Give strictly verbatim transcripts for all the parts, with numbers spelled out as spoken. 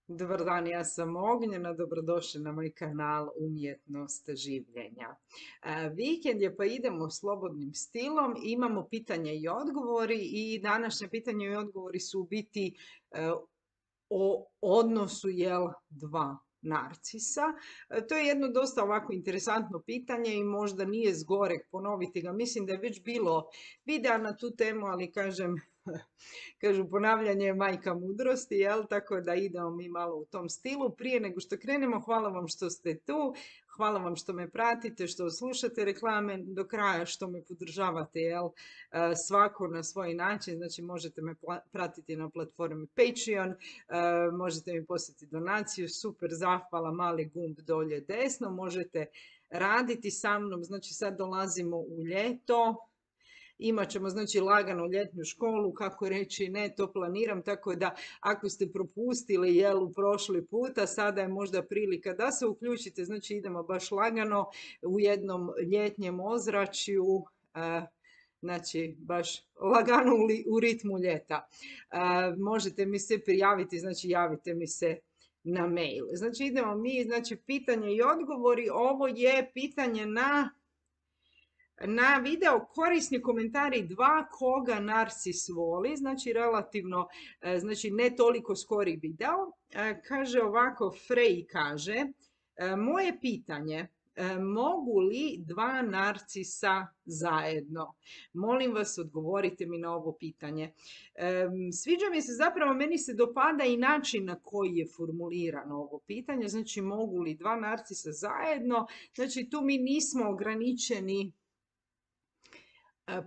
Dobar dan, ja sam Ognjena, dobrodošli na moj kanal Umjetnost življenja. E, Vikend je pa idemo slobodnim stilom, imamo pitanja i odgovori i današnje pitanje i odgovori su u biti e, o odnosu jel dva narcisa. E, To je jedno dosta ovako interesantno pitanje i možda nije zgoreg ponoviti ga. Mislim da je već bilo videa na tu temu, ali kažem, kažu ponavljanje je majka mudrosti, jel? Tako da idemo mi malo u tom stilu. Prije nego što krenemo, hvala vam što ste tu, hvala vam što me pratite, što slušate reklame do kraja, što me podržavate, jel? E, Svako na svoj način, znači možete me pratiti na platformi Patreon, e, možete mi poslati donaciju, super, zahvala, mali gumb dolje desno, možete raditi sa mnom, znači sad dolazimo u ljeto, imat ćemo znači lagano ljetnu školu, kako reći ne, to planiram, tako da ako ste propustili jel u prošli puta, sada je možda prilika da se uključite, znači idemo baš lagano u jednom ljetnjem ozračju, e, znači baš lagano u, u ritmu ljeta. E, možete mi se prijaviti, znači javite mi se na mail. Znači idemo mi, znači pitanje i odgovori, ovo je pitanje na na video korisni komentari dva koga narcis voli, znači relativno, znači ne toliko skori video. Kaže ovako, Frej kaže, moje pitanje, mogu li dva narcisa zajedno? Molim vas, odgovorite mi na ovo pitanje. Sviđa mi se, zapravo meni se dopada i način na koji je formulirano ovo pitanje, znači mogu li dva narcisa zajedno, znači tu mi nismo ograničeni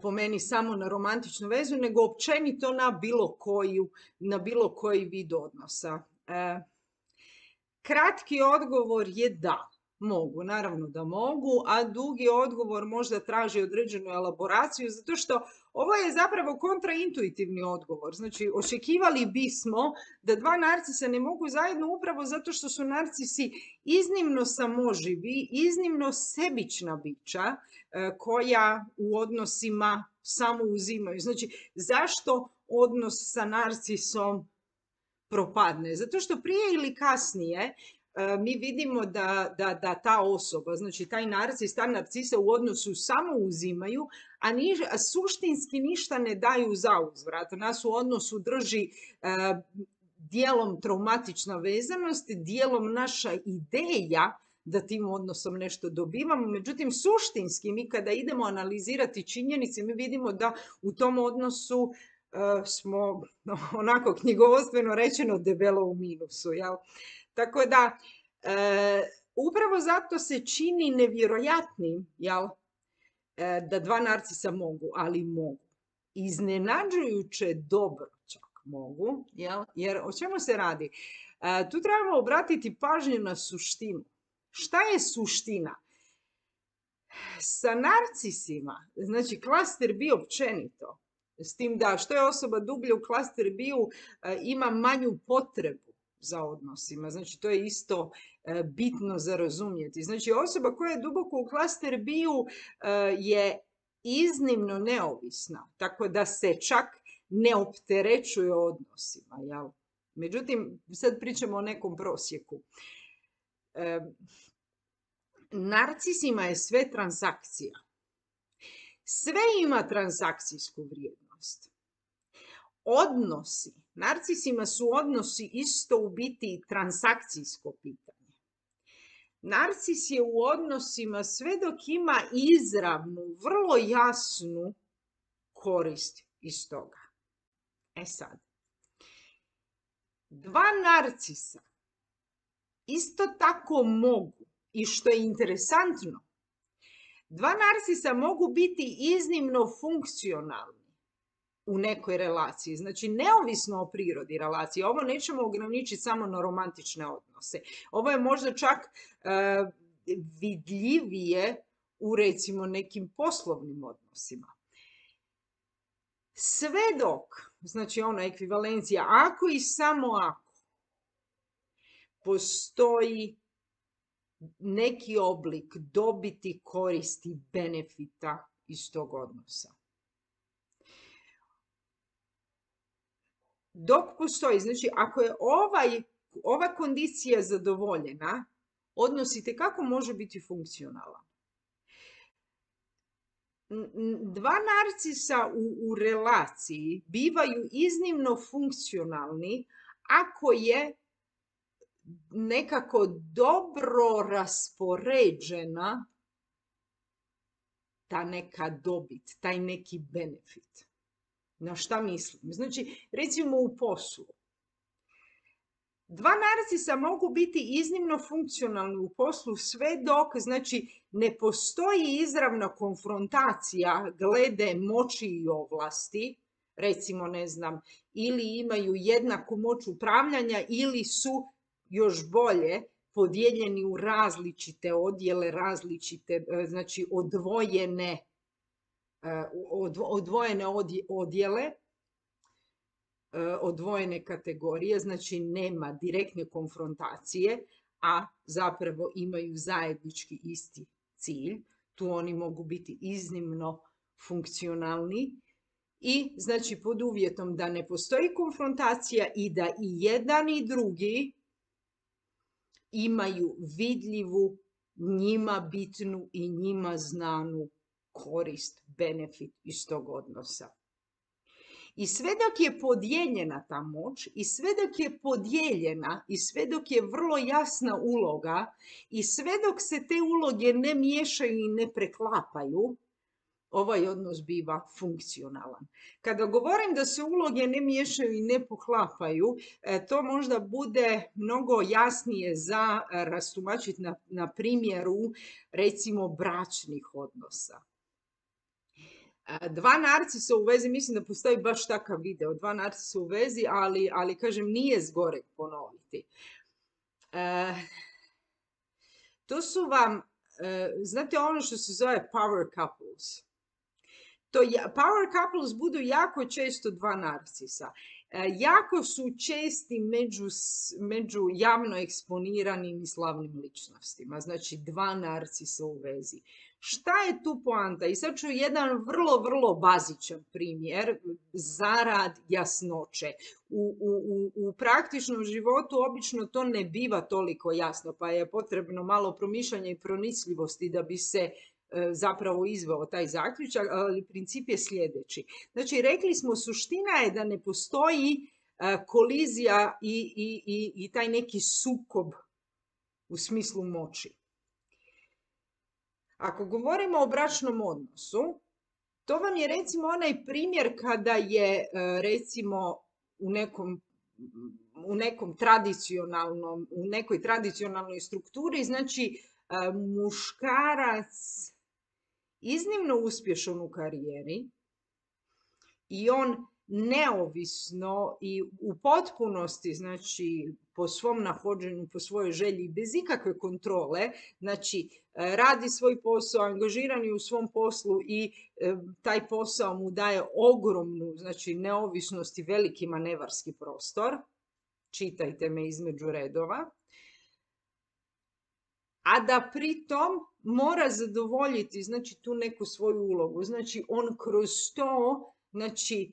po meni samo na romantičnu vezu, nego općenito na bilo koju, na bilo koji vid odnosa. E, kratki odgovor je da, mogu, naravno da mogu, a dugi odgovor možda traži određenu elaboraciju, zato što ovo je zapravo kontraintuitivni odgovor. Znači, očekivali bismo da dva narcisa ne mogu zajedno upravo zato što su narcisi iznimno samoživi, iznimno sebična bića koja u odnosima samo uzimaju. Znači, zašto odnos sa narcisom propadne? Zato što prije ili kasnije mi vidimo da, da, da ta osoba, znači taj narcis, ta narcisa u odnosu samo uzimaju, a, niž, a suštinski ništa ne daju za uzvrat. Nas u odnosu drži uh, dijelom traumatična vezanost, dijelom naša ideja da tim odnosom nešto dobivamo. Međutim, suštinski mi kada idemo analizirati činjenice, mi vidimo da u tom odnosu uh, smo onako knjigovodstveno rečeno debelo u minusu, jel? Tako da, e, upravo zato se čini nevjerojatnim, jel, e, da dva narcisa mogu, ali mogu. Iznenađujuće dobro čak mogu, jel, jer o čemu se radi? E, tu trebamo obratiti pažnju na suštinu. Šta je suština? Sa narcisima, znači klaster bi općenito, s tim da što je osoba dublje u klaster biju, e, ima manju potrebu za odnosima. Znači, to je isto e, bitno za razumjeti. Znači, osoba koja je duboko u klaster biju e, je iznimno neovisna, tako da se čak ne opterećuje odnosima. Jel? Međutim, sad pričamo o nekom prosjeku. E, narcisima je sve transakcija. Sve ima transakcijsku vrijednost. Odnosi, narcisima su odnosi isto u biti transakcijsko pitanje. Narcis je u odnosima sve dok ima izravnu, vrlo jasnu korist iz toga. E sad, dva narcisa isto tako mogu, i što je interesantno, dva narcisa mogu biti iznimno funkcionalni u nekoj relaciji, znači neovisno o prirodi relacije. Ovo nećemo ograničiti samo na romantične odnose. Ovo je možda čak uh, vidljivije u recimo nekim poslovnim odnosima. Sve dok, znači ona ekvivalencija, ako i samo ako, postoji neki oblik dobiti, koristi, benefita iz tog odnosa. Dok postoji, znači ako je ovaj ova kondicija zadovoljena, odnos itekako može biti funkcionalan. Dva narcisa u, u relaciji bivaju iznimno funkcionalni ako je nekako dobro raspoređena ta neka dobit, taj neki benefit. Na šta mislim? Znači, recimo u poslu. Dva narcisa mogu biti iznimno funkcionalni u poslu sve dok, znači, ne postoji izravna konfrontacija glede moći i ovlasti, recimo, ne znam, ili imaju jednaku moć upravljanja ili su, još bolje, podijeljeni u različite odjele, različite, znači, odvojene, odvojene odjele, odvojene kategorije, znači nema direktne konfrontacije, a zapravo imaju zajednički isti cilj. Tu oni mogu biti iznimno funkcionalni i znači pod uvjetom da ne postoji konfrontacija i da i jedan i drugi imaju vidljivu, njima bitnu i njima znanu korist, benefit iz tog odnosa. I sve dok je podijeljena ta moć, i sve dok je podijeljena, i sve dok je vrlo jasna uloga, i sve dok se te uloge ne miješaju i ne preklapaju, ovaj odnos biva funkcionalan. Kada govorim da se uloge ne miješaju i ne poklapaju, to možda bude mnogo jasnije za rastumačiti na, na primjeru, recimo, bračnih odnosa. Dva narcisa u vezi, mislim da postoji baš takav video, dva narcisa u vezi, ali, ali kažem, nije zgoreg ponoviti. E, to su vam, e, znate ono što se zove power couples. To je, power couples budu jako često dva narcisa. E, jako su česti među, među javno eksponiranim i slavnim ličnostima. Znači dva narcisa u vezi. Šta je tu poanta? I sad ću jedan vrlo, vrlo bazičan primjer zarad jasnoće. U, u, u praktičnom životu obično to ne biva toliko jasno, pa je potrebno malo promišljanja i pronicljivosti da bi se e, zapravo izveo taj zaključak, ali princip je sljedeći. Znači, rekli smo, suština je da ne postoji e, kolizija i, i, i, i taj neki sukob u smislu moći. Ako govorimo o bračnom odnosu, to vam je recimo onaj primjer kada je recimo u nekom, u nekom tradicionalnom, u nekoj tradicionalnoj strukturi, znači muškarac iznimno uspješan u karijeri i on neovisno i u potpunosti, znači po svom nahođenju, po svojoj želji, bez ikakve kontrole, znači radi svoj posao, angažiran je u svom poslu i e, taj posao mu daje ogromnu, znači, neovisnost i veliki manevarski prostor. Čitajte me između redova. A da pritom mora zadovoljiti, znači, tu neku svoju ulogu. Znači, on kroz to, znači,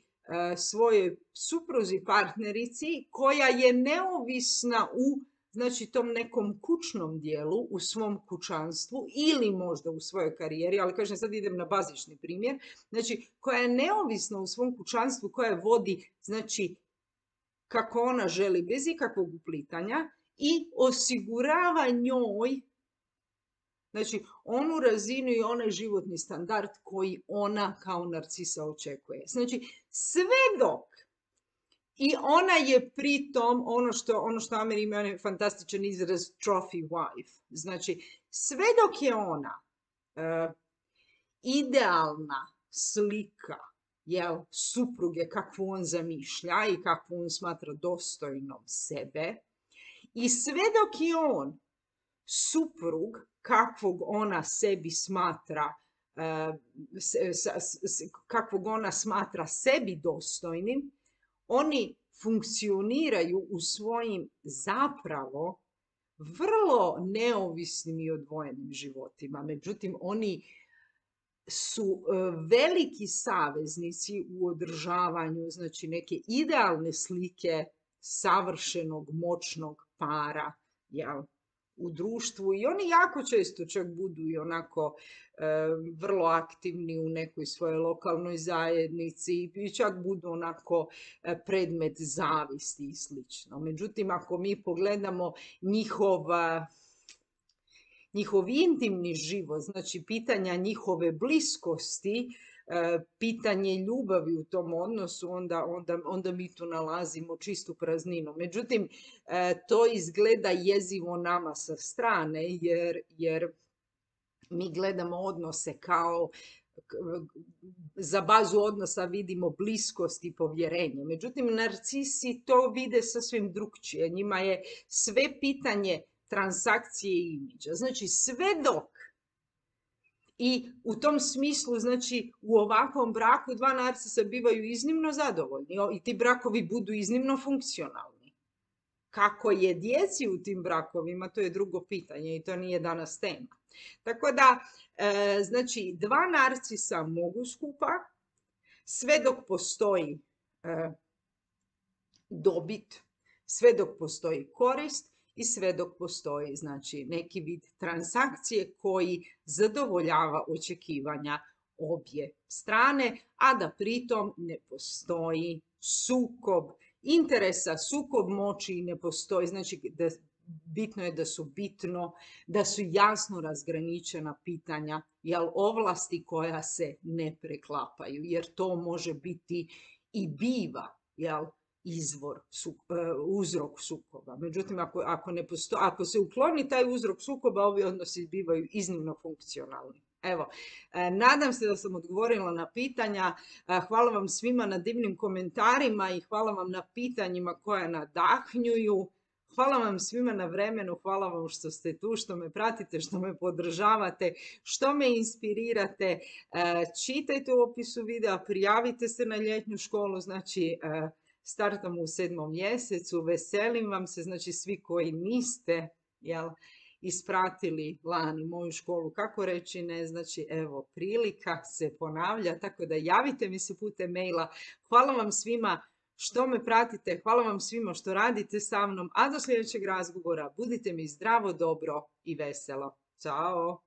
svojoj supruzi, partnerici, koja je neovisna u, znači, tom nekom kućnom dijelu, u svom kućanstvu ili možda u svojoj karijeri, ali kažem, sad idem na bazični primjer, znači, koja je neovisna u svom kućanstvu, koja vodi, znači, kako ona želi, bez ikakvog uplitanja i osigurava njoj, znači, onu razinu i onaj životni standard koji ona kao narcisa očekuje. Znači, sve dok i ona je pritom ono što, ono što Ameri ima onaj fantastičan izraz trophy wife. Znači, sve dok je ona uh, idealna slika, jel, supruge kakvu on zamišlja i kakvu on smatra dostojnom sebe, i sve dok je on suprug kakvog ona sebi smatra, kakvog ona smatra sebi dostojnim, oni funkcioniraju u svojim zapravo vrlo neovisnim i odvojenim životima. Međutim, oni su veliki saveznici u održavanju, znači, neke idealne slike savršenog, moćnog para, jel, u društvu i oni jako često čak budu i onako e, vrlo aktivni u nekoj svojoj lokalnoj zajednici i čak budu onako e, predmet zavisti i slično. Međutim, ako mi pogledamo njihova njihov intimni život, znači pitanja njihove bliskosti, pitanje ljubavi u tom odnosu, onda, onda, onda mi tu nalazimo čistu prazninu. Međutim, to izgleda jezivo nama sa strane, jer, jer mi gledamo odnose kao za bazu odnosa vidimo bliskost i povjerenje. Međutim, narcisi to vide sasvim drukčije. Njima je sve pitanje transakcije i imidža. Znači, sve dok i u tom smislu, znači, u ovakvom braku dva narcisa bivaju iznimno zadovoljni i ti brakovi budu iznimno funkcionalni. Kako je djeci u tim brakovima, to je drugo pitanje i to nije danas tema. Tako da, e, znači, dva narcisa mogu skupa, sve dok postoji e, dobit, sve dok postoji korist, i sve dok postoji, znači, neki vid transakcije koji zadovoljava očekivanja obje strane, a da pritom ne postoji sukob interesa, sukob moći ne postoji. Znači, da, bitno je da su bitno, da su jasno razgraničena pitanja, jel, ovlasti koja se ne preklapaju, jer to može biti i biva, jel, izvor, su, uzrok sukoba. Međutim, ako, ako, ne posto, ako se ukloni taj uzrok sukoba, ovi odnosi bivaju iznimno funkcionalni. Evo, nadam se da sam odgovorila na pitanja. Hvala vam svima na divnim komentarima i hvala vam na pitanjima koja nadahnjuju. Hvala vam svima na vremenu, hvala vam što ste tu, što me pratite, što me podržavate, što me inspirirate. Čitajte u opisu videa, prijavite se na ljetnju školu, znači startamo u sedmom mjesecu, veselim vam se, znači svi koji niste, jel, ispratili lani moju školu, kako reći ne, znači evo, prilika se ponavlja, tako da javite mi se putem maila. Hvala vam svima što me pratite, hvala vam svima što radite sa mnom, a do sljedećeg razgovora budite mi zdravo, dobro i veselo. Ćao!